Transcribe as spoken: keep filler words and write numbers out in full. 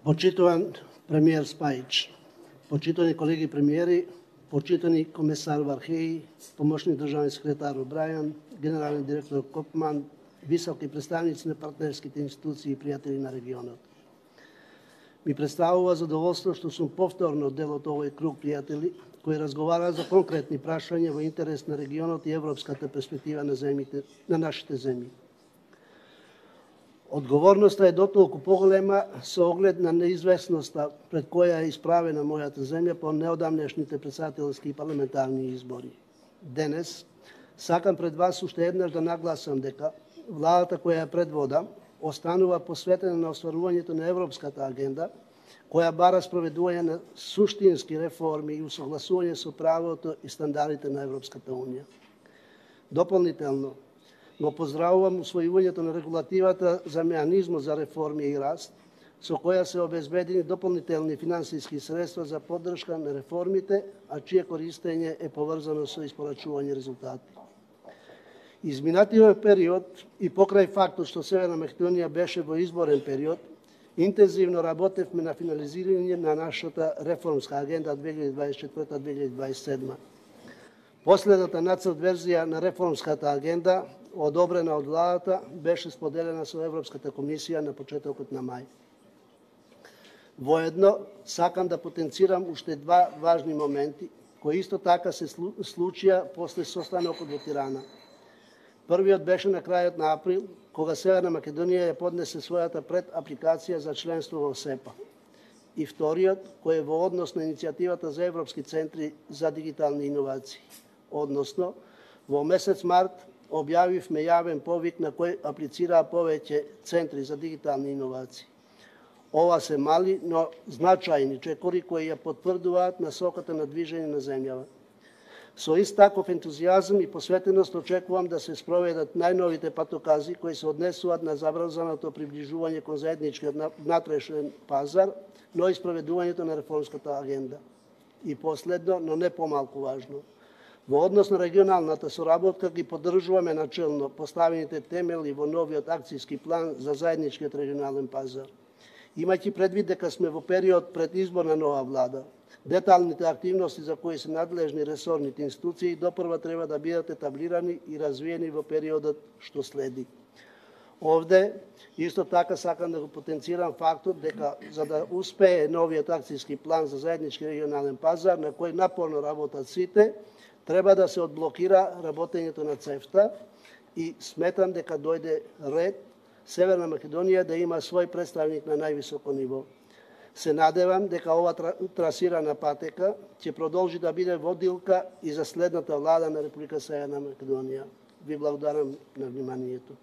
Почитуван премиер Спајич, почитани колеги премиери, почитани комесар Вархеи, помошник државен секретар Обрајан, генерален директор Копман, високи представници на партнерските институции и пријатели на регионот. Ми представува задоволство што сум повторно дел од овој круг пријатели кои разговараат за конкретни прашања во интерес на регионот и европската перспектива на земите, на нашите земји. Одговорноста е дотолку поголема со оглед на неизвестноста пред која е исправена мојата земја по неодамнешните претседателски и парламентарни избори. Денес сакам пред вас уште еднаш да нагласам дека владата која ја предводам останува посветена на остварувањето на европската агенда, која бара спроведување на суштински реформи и усогласување со правото и стандардите на Европската унија. Дополнително, го поздравувам усвојувањето на регулативата за меанизмот за реформи и раст, со која се обезбедени дополнителни финансиски средства за поддршка на реформите, а чие користење е поврзано со испорачување резултати. Изминатиот период и покрај фактот што Северна Македонија беше во изборен период, интензивно работевме на финализирање на нашата реформска агенда две илјади дваесет и четврта - две илјади дваесет и седма. Последната нацрт верзија на реформската агенда, одобрена од владата, беше споделена со Европската комисија на почетокот на мај. Воедно, сакам да потенцирам уште два важни моменти, кои исто така се случија после состанокот во Тирана. Првиот беше на крајот на април, кога Северна Македонија ја поднесе својата предапликација за членство во СЕПА. И вториот, кој е во однос на иницијативата за Европски центри за дигитални иновации. Односно, во месец март објавивме јавен повик на кој аплицираа повеќе центри за дигитални иновации. Ова се мали, но значајни чекори кои ја потврдуваат насоката на движење на земјава. Со ист таков ентузијазм и посветеност очекувам да се спроведат најновите патокази кои се однесуваат на забрзаното приближување кон заедничкиот внатрешен пазар, но и спроведувањето на реформската агенда. И последно, но не помалку важно, во однос на регионалната соработка ги поддржуваме начелно поставените темели во новиот акцијски план за заедничкиот регионален пазар. Имајќи предвид дека сме во период пред избор на нова влада, деталните активности за кои се надлежни ресорните институции допрва треба да бидат етаблирани и развиени во периодот што следи. Овде, исто така сакам да го потенцирам фактот дека за да успее новиот акцијски план за заеднички регионален пазар, на кој напорно работат сите, треба да се одблокира работењето на ЦЕФТА и сметам дека дојде ред Северна Македонија да има свој представник на највисоко ниво. Се надевам дека ова трасирана патека ќе продолжи да биде водилка и за следната влада на Република Северна Македонија. Ви благодарам на вниманието.